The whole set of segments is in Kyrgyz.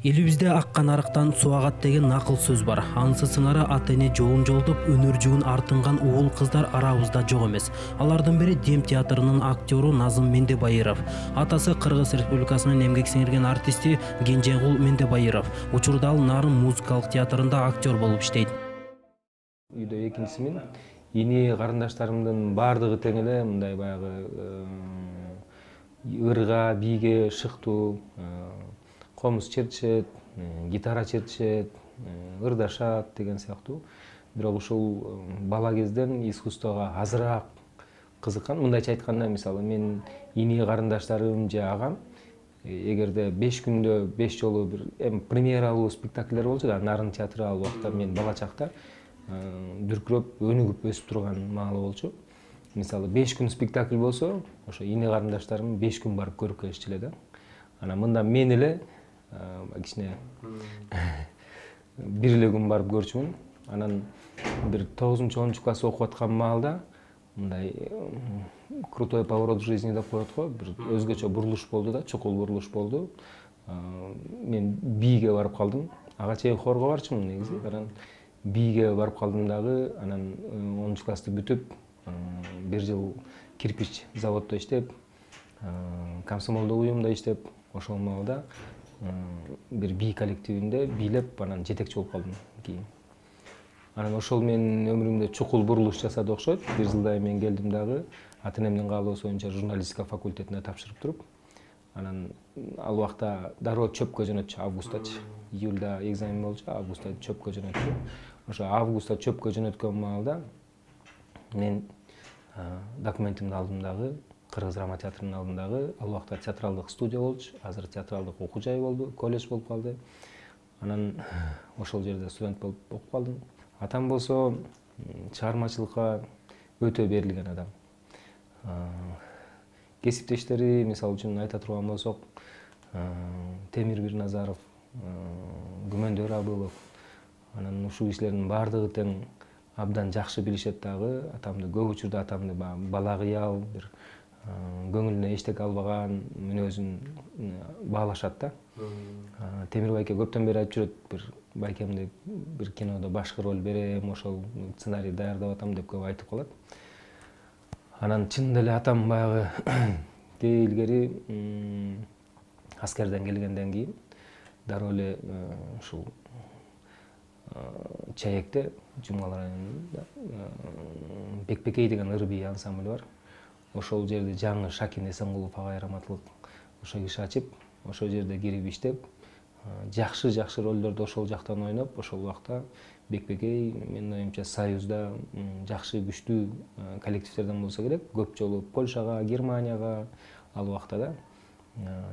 Элибизде аккан арыктан суу агат деген накыл сөз бар. Анысы сыңары ата-эне жолун жолдоп, өнөр жуун артынган уул кыздар арабызда жок эмес. Алардын бири Дем театрынын актеру Назым Мендебайыров. Атасы Кыргыз Республикасынын эмгек сиңирген артисти Кенжегул Мендебайыров. Учурда ал Нарын музыкалык театрында актер болуп иштейт. Үйдө экинчисимин. Ини карындаштарымдын баардыгы тең эле мындай баягы ырга, бийге шыктуу, комуз чертишет, гитара чертишет, ырдашат деген сыяктуу. Бирок ушул бала кезден искусствого азыраак кызыккан. Мындайча айтканда, мисалы, мен ини карындаштарым же агам эгерде 5 күндө 5 жолу бир премьералуу спектакльдер болчу да, Нарын театры ал убакта мен бала чакта дүркүрөп, өнүгүп өсүп турган маалы болчу. Мисалы, 5 күн спектакль болсо, ошо ини карындаштарым 5 күн барып көрүп келишчү эле да. Анан мында мен эле кичине бир эле күн барып көрчүмүн. Анан бир 9-10 класс окуп аткан маалда мындай крутой поворот в жизни деп коет го, бир өзгөчө бурулуш болду да, чукул бурулуш болду. Мен бийге барып калдым. Ага чейин хорго барчумун негизи. Анан бийге барып калдым дагы. Анан 10 классты бүтүп, бир жыл кирпич заводдо иштеп, комсомолдук уюмда иштеп, ошол маалда бир бий коллективинде бийлеп, анан жетекчи болуп калдым кийин. Анан ошол менин өмүрүмдө чукул бурулуш жасады окшойт. Бир жылдай мен келдим дагы, ата-энемдин каалоосу боюнча журналистика факультетине тапшырып туруп, анан ал убакта дароо чөпкө жөнөтчү, августачы. Июлда экзамен болчу, августта чөпкө жөнөтчү. Ошо августта чөпкө жөнөткөн маалда мен документимди алдым дагы, Кыргыз драма театрынын алдындагы. Ал убакта театралдык студия болчу, азыр театралдык окуу жай болду, колледж болуп калды. Анан ошол жерде студент болуп окуп калдым. Атам болсо чыгармачылыкка өтө берилген адам. Кесиптештери, мисалы үчүн айта турган болсок, Темир Бирназаров, Күмөндөр Абылов, анан ушул кишилердин баардыгы тең абдан жакшы билишет дагы. Атамды көп учурда атамды бала кыял, бир көңүлүнө эчтеке албаган мүнөзүн баалашат да. Темир байке көптөн бери айтып жүрөт, бир байкемди бир кинодо башкы роль берем, ошол сценарий даярдап атам деп көп айтып калат. Анан чынында эле атам баягы илгери аскерден келгенден кийин дароо эле ушул Чаекте, Жумгал районунда Бекбекей деген ыр-бий ансамбль бар. Ошол жерде жаңы Шакин Эсенгулов агай раматылык ошо киши ачып, ошол жерде кирип иштеп, жакшы ролдорду ошол жактан ойноп, ошол убакта Бекбекей, менин оюмча, Союзда жакшы күчтүү коллективдерден болсо керек. Көп жолу Польшага, Германияга, ал убакта да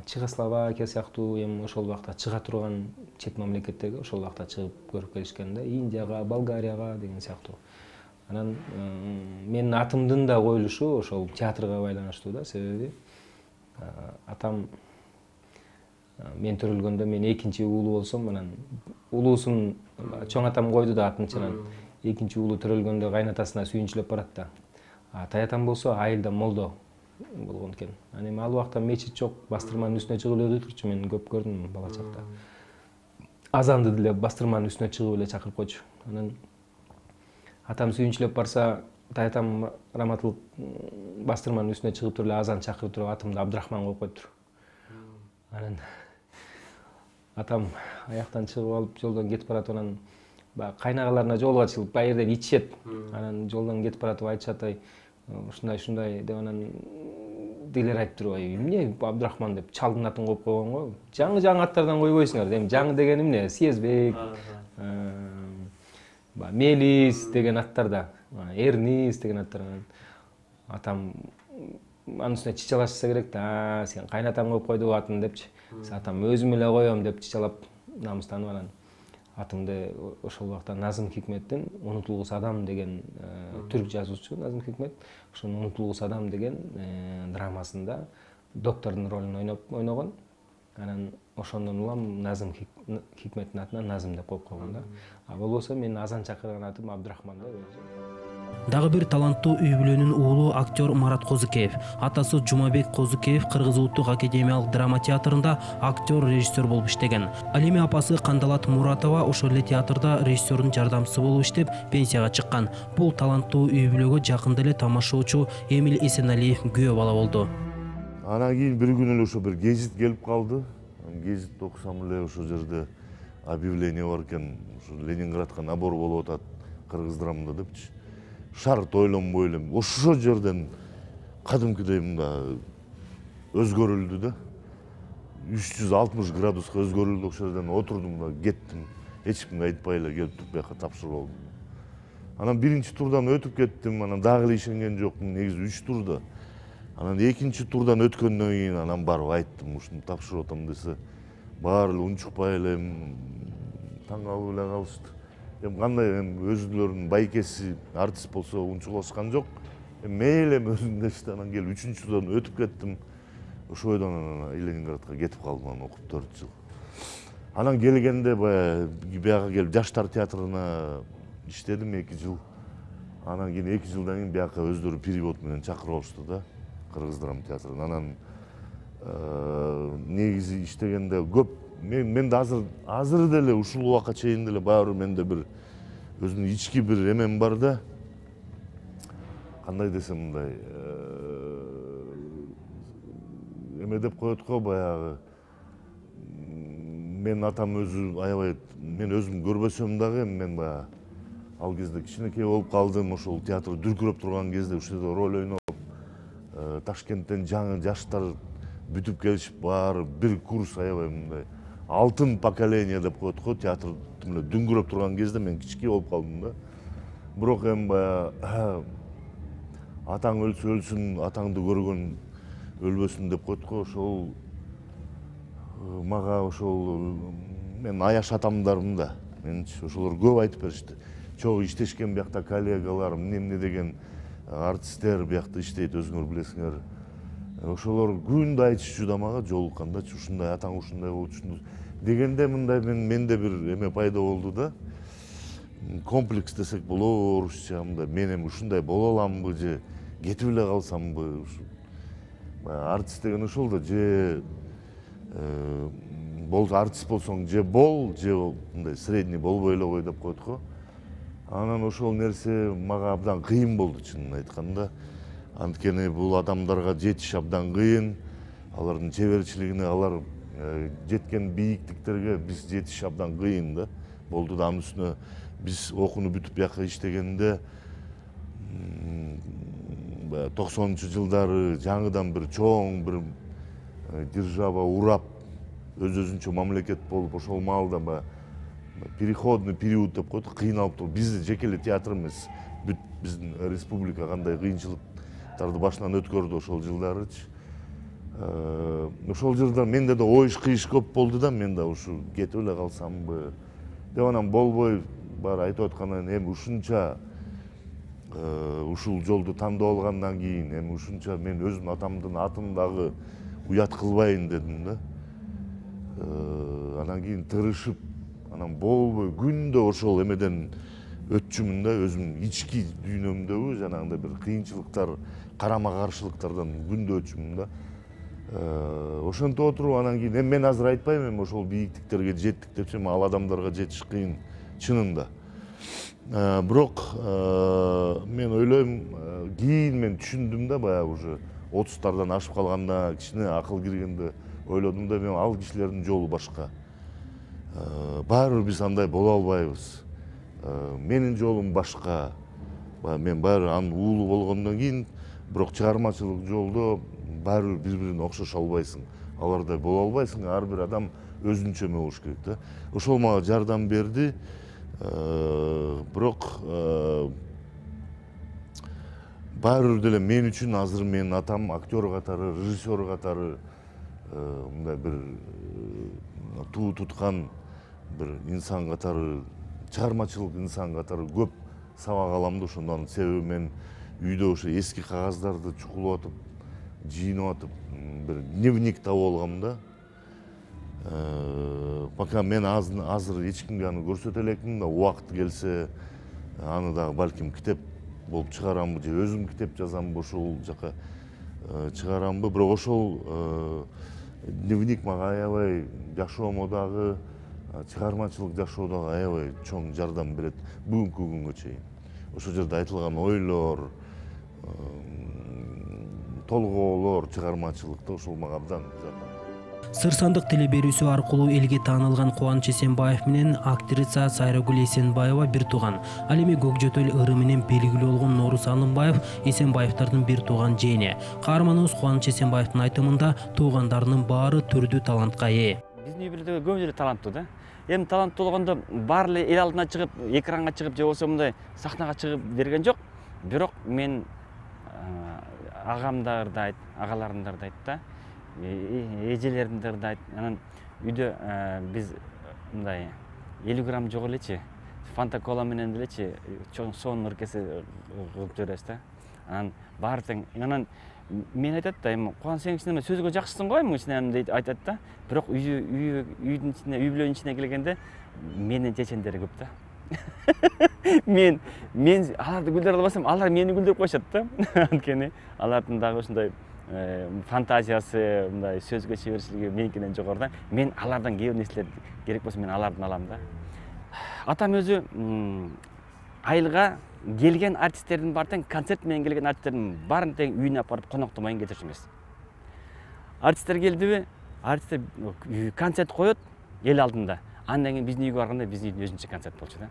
Чехословакия сыяктуу эми ошол убакта чыга турган чет мамлекеттерге ошол убакта чыгып көрүп келишкен да, Индияга, Болгарияга деген сыяктуу. Анан менин атымдын да коюлушу ошол театрга байланыштуу да, себеби атам мен төрөлгөндө мен экинчи уулу болсом, анан улуусун чоң атам койду да атынчанан. Экинчи уулу төрөлгөндө кайнатасына сүйүнчүлөп барат да. Таятам болсо айылда молдо болгон экен. Анан эми ал убакта мечит жок, бастырманын үстүнө чыгып эле кыйкырчу, мен көп көрдүм бала чакта. Азанды деле бастырманын үстүнө чыгып эле чакырып койчу. Анан атам сүйүнчүлөп барса, таятам раматылык бастырманын үстүнө чыгып туруп эле азан чакырып туруп атымды Абдрахман коюп коюптур. Анан атам аяктан чыгып алып жолдон кетип баратып, анан кайнагаларына жолугу ачылып, баы жерден ичишет. Анан жолдон кетип баратып айтышат, ушундай деп, анан дилер айтып туруп, эмне Абдрахман деп чалдын атын коюп койгон го. Жаңы аттардан койбойсуңар. Эми жаңы дегени эмне? Съездбек, Мелис деген аттарда, Эрнис деген аттар. Атам анын үстүнө чычалашса керек да, сен кайнатаң коюп койду атын депчи. Атам өзүм эле коем деп чычалап, намыстанып, анан атымды ошол убакта Назым Хикметтин Унутулгус адам деген түрк жазуучу Назым Хикмет, ошонун Унутулгус адам деген драмасында доктордун ролун ойногон. Анан ошондон улам Назым Хикметтин атына Назым деп коюп койгон да. А болбосо мен азан чакырган атым Абдрахман да. Дагы бир таланттуу үй бүлөнүн уулу актер Марат Козукеев. Атасы Жумабек Козукеев Кыргыз Улуттук академиялык драма театрында актер, режиссер болуп иштеген. Ал эми апасы Кандалат Муратова ошол эле театрда режиссердун жардамчысы болуп иштеп, пенсияга чыккан. Бул таланттуу үй бүлөгө жакында эле тамашоочу Эмил Эсеналиев күбө бала болду. Анан кийин бир күнү эле ошо бир гезит келип калды. Гезитти окусам эле ошол жерде объявление бар экен, ушу Ленинградка набор болуп атат кыргыз драмада депчи. Шарт ойлонбой эле ошол жерден кадимкидей мында өзгөрүлдү да. 360 градуска өзгөрүлдү, ошол жерден отурдум да кеттим. Эч кимге айтпай эле келип туруп бияка тапшырып алдым. Анан биринчи турдан өтүп кеттим, анан дагы эле ишенген жокмун, негизи 3 турда. Анан экинчи турдан өткөндөн кийин анан барып айттым, ушуну тапшырып атам десе, баары эле унчукпай эле таң калып эле калышты. Кандай өзүлөрүнүн байкеси артист болсо унчуклашкан жок. Мейли өзүм дешти, анан келип 3-турдан өтүп кеттим. Ошол бойдон анан Ленинградка кетип калдым, анан окуп 4 жыл. Анан келгенде бияка келип Жаштар театрына иштедим 2 жыл. Анан кийин 2 жылдан кийин бияка өздөрү перевод менен чакырып алышты да, Кыргыз драма театрына. Анан негизи иштегенде көп менде азыр деле ушул убакка чейин деле баары менде бир өзүнүн ички бир эмем бар да. Кандай десем мындай эме деп коет го, баягы мен атам өзү аябай, мен өзүм көрбөсөм дагы мен баягы ал кезде кичинекей болуп калдым, ошол театр дүркүрөп турган кезде ушул жерде роль ойноп, Ташкенттен жаңы жаштар бүтүп келишип, баары бир курс аябай мындай алтын поколение деп коет го, театр дүңгүрөп турган кезде мен кичикей болуп калдым да. Бирок эми баягы атаң өлсө өлсүн, атаңды көргөн өлбөсүн деп коет го, ошол мага ошол мен аяш атамдарым да, менчи ошолор көп айтып беришти. Чогуу иштешкен биякта коллегаларым, эмне деген артисттер биякта иштейт, өзүңөр билесиңер. Ошолор күндө айтышчу да мага жолуккандачы, ушундай атаң ушундай болчу дегенде мындай менде бир эме пайда болду да. Комплекс десек болор, орусча мындай мен эми ушундай боло аламбы же кетип эле калсамбы. Артист деген ошол да, же артист болсоң же бол, же мындай средний болбой эле кой деп коет го. Анан ошол нерсе мага абдан кыйын болду, чынын айтканда. Анткени бул адамдарга жетиш абдан кыйын, алардын чеберчилигине, алар жеткен бийиктиктерге биз жетиш абдан кыйын да болду да. Анын үстүнө биз окууну бүтүп бияка иштегенде 90-жылдары жаңыдан бир чоң бир держава урап, өзүнчө мамлекет болуп, ошол маалда переходный период деп коет, кыйналып туруп, бизди жеке эле театр эмес, бүт биздин республика кандай кыйынчылыктарды башынан өткөрдү ошол жылдарычы. Ошол жылдар менде да оюш-кыйыш көп болду да, мен да ушу кетип эле калсамбы деп, анан болбой баары айтып аткандан кийин, эми ушунча ушул жолду тандап алгандан кийин, эми ушунча мен өзүмдүн атамдын атын дагы уят кылбайын дедим да. Анан кийин тырышып, анан болбой күндө ошол эмеден өтчүмүн да, өзүмдүн ички дүйнөмдөгү жанагындай бир кыйынчылыктар, карама каршылыктардан күндө өтчүмүн да. Ошентип отуруп, анан кийин мен азыр айтпайм эми ошол бийиктиктерге жеттик депчи, ал адамдарга жетиш кыйын чынында. Бирок мен ойлойм, кийин мен түшүндүм да, баягы уже 30-тардан ашып калганда, кичине акыл киргенде ойлодум да, мен ал кишилердин жолу башка. Баары бир биз андай боло албайбыз. Менин жолум башка. Мен баары анын уулу болгондон кийин, бирок чыгармачылык жолдо баары бири-бирине окшошо албайсың. Алардай боло албайсың, ар бир адам өзүнчө эме болуш керек да. Ошол мага жардам берди. Бирок баары бир деле мен үчүн азыр менин атам актер катары, режиссер катары, мындай бир туу туткан бир инсан катары, чыгармачылык инсан катары көп сабак алам да. Ошондон себеби мен үйдө ошо эски кагаздарды чукулуп атып, жыйнап атып, бир дневник таап алгам да. Пока мен азыр эч кимге аны көрсөтө элекмин да, убакыт келсе аны дагы балким китеп болуп чыгарамбы же өзүм китеп жазамбы ошол жака чыгарамбы. Бирок ошол дневник мага аябай жашоомо дагы, чыгармачылык жашоодо аябай чоң жардам берет бүгүнкү күнгө чейин. Ошол жерде айтылган ойлор, толгоолор чыгармачылыкта ошол мага абдан жардам. Сыр сандык теле берүүсү аркылуу элге таанылган Кубаныч Эсенбаев менен актриса Сайрагүл Эсенбаева бир тууган. Ал эми Көкжөтөл ыры менен белгилүү болгон Норус Алымбаев Эсенбаевдардын бир тууган жээни. Каарманыбыз Кубаныч Эсенбаевдин айтымында туугандарынын баары түрдүү талантка ээ. Биздин үй бүлөдө көбү эле таланттуу да. Эми таланттуу болгондо баары эле эл алдына чыгып, экранга чыгып же болбосо мындай сахнага чыгып берген жок. Бирок мен агамдар да айт, агаларымдар да айт да. Эжелеримдер да айт. Анан үйдө биз мындай 50 грамм жок элечи, фанта кола менен делечи чоң сонун ыркесе кылып жиберебиз да. Анан баары тең. Анан мен айтат да, эми Кубан сен кичине сөзгө жакшысың го эми кичине дейт айтат да. Бирок үйдүн ичине, үй бүлөнүн ичине келгенде менин чечендери көп да. Мен аларды гүлдөрө албасам, алар мени гүлдөрүп коюшат да. Анткени алардын дагы ушундай фантазиясы, мындай сөзгө чеберчилиги меникинен жогору да. Мен алардан кээ бир нерселер керек болсо мен алардан алам да. Атам өзү айылга келген артисттердин баары тең, концерт менен келген артисттердин баарын тең үйүнө апарып коноктомайын кетирчү эмес. Артисттер келдиби, артисттер концерт коет эл алдында. Андан кийин биздин үйгө барганда биздин үйдүн өзүнчө концерт болчу да.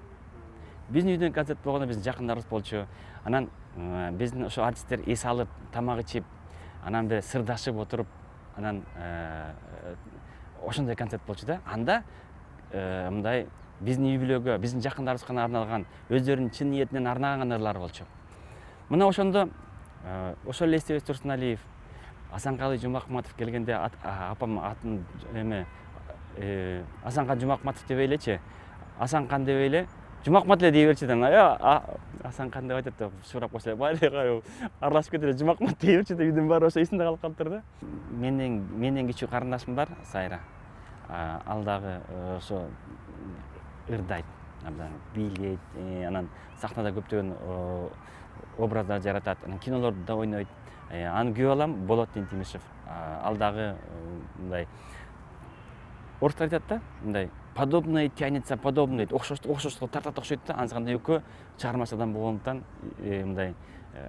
Биздин үйдөн концерт болгондо биздин жакындарыбыз болчу. Анан биздин ошо артисттер эс алып, тамак ичип, анан бир сырдашып отуруп, анан ошондой концерт болчу да. Анда мындай биздин үй бүлөгө, биздин жакындарыбызга арналган, өздөрүнүн чын ниетинен арнаган ырлар болчу. Мына ошондо ошол эле Эстебес Турсуналиев, Асанкалы Жумакматов келгенде апам атын эме Асанкан Жумакматов дебей элечи, Асанкан дебей эле Жумакмат эле дей берчи да. Асанкан деп айтат да, сурап койсо баары аралашып кетип эле Жумакмат дей берчи да, үйдүн баары ошо эсинде калып калыптыр да. Менден кичүү карындашым бар, Сайра. Ал дагы ошо ырдайт, абдан бийлейт, анан сахнада көптөгөн образдар жаратат, анан кинолордо да ойнойт. Аны күйөө алам, Болот Тимишев. Ал дагы мындай орустар айтат да, мындай подобное тянется подобное, окшоштукка тартат окшойт да. Анысы экөө чыгармачы адам болгондуктан мындай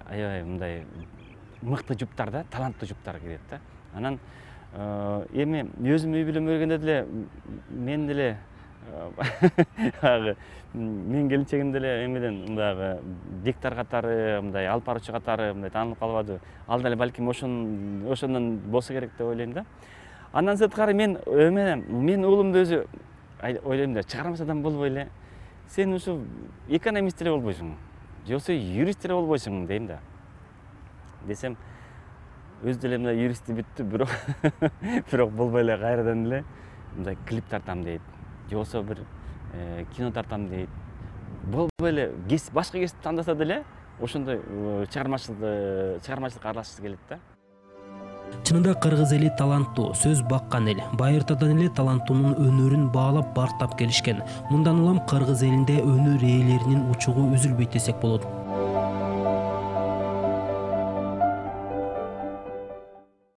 аябай мындай мыкты жуптар да, таланттуу жуптар кирет да. Анан эми өзүм үй бүлөмө келгенде деле мен деле мен келинчегим деле эмеден мындагы диктор катары, мындай алып баруучу катары мындай таанылып калбады. Ал деле балким ошондон болсо керек деп ойлойм да. Андан сырткары мен уулумду өзү ойлойм да, чыгармачы адам болбой эле сен ушу экономист эле болбойсуң, же болбосо юрист эле болбойсуң дейм да. Десем өзү деле мындай юристти бүттү, бирок болбой эле кайрадан эле мындай клип тартам дейт, же болбосо бир кино тартам дейт. Болбой эле башка кесип тандаса деле ошондой чыгармачылыкка аралашкысы келет да. Чынында кыргыз эли таланттуу, сөз баккан эл. Байыртадан эле таланттуунун өнөрүн баалап бартап келишкен. Мындан улам кыргыз элинде өнөр ээлеринин учугу үзүлбөйт десек болот.